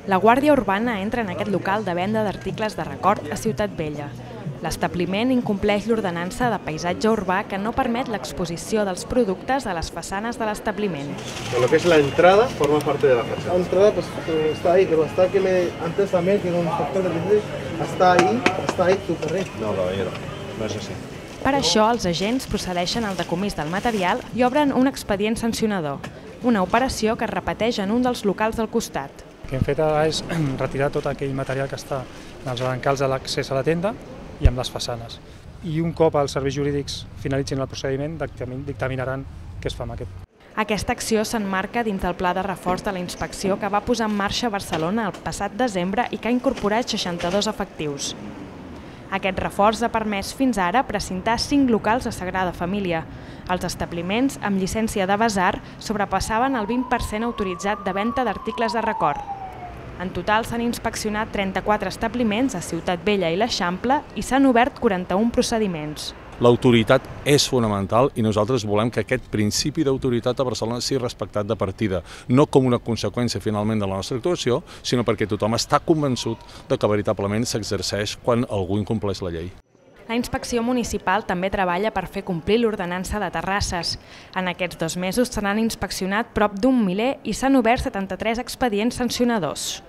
La Guàrdia Urbana entra en aquest local de venda d'articles de record a Ciutat Vella. L'establiment incompleix l'ordenança de paisatge urbà que no permet l'exposició dels productes a les façanes de l'establiment. Lo que es la entrada forma parte de la fachada. La entrada pues, está ahí, pero hasta que antes también, que era un factor de riesgo, está ahí tu carrer. No, caballero, no es así. Per això, els agents procedeixen al decomís del material i obren un expedient sancionador, una operació que es repeteix en un dels locals del costat. El que hem fet és retirar tot aquell material que està en els brancals de l'accés a la tenda i amb les façanes. I un cop els serveis jurídics finalitzin el procediment, dictaminaran què es fa amb aquest. Aquesta acció s'emmarca dins del pla de reforç de la inspecció que va posar en marxa a Barcelona el passat desembre i que ha incorporat 62 efectius. Aquest reforç ha permès fins ara precintar 5 locals a Sagrada Família. Els establiments amb llicència de basar sobrepassaven el 20% autoritzat de venda d'articles de record. En total s'han inspeccionat 34 establiments a Ciutat Vella i l'Eixample i s'han obert 41 procediments. L'autoritat és fonamental i nosaltres volem que aquest principi d'autoritat a Barcelona sigui respectat de partida, no com una conseqüència finalment de la nostra actuació, sinó perquè tothom està convençut de que veritablement s'exerceix quan algú incompleix la llei. La inspecció municipal també treballa per fer complir l'ordenança de terrasses. En aquests 2 mesos se n'han inspeccionat prop d'un miler i s'han obert 73 expedients sancionadors.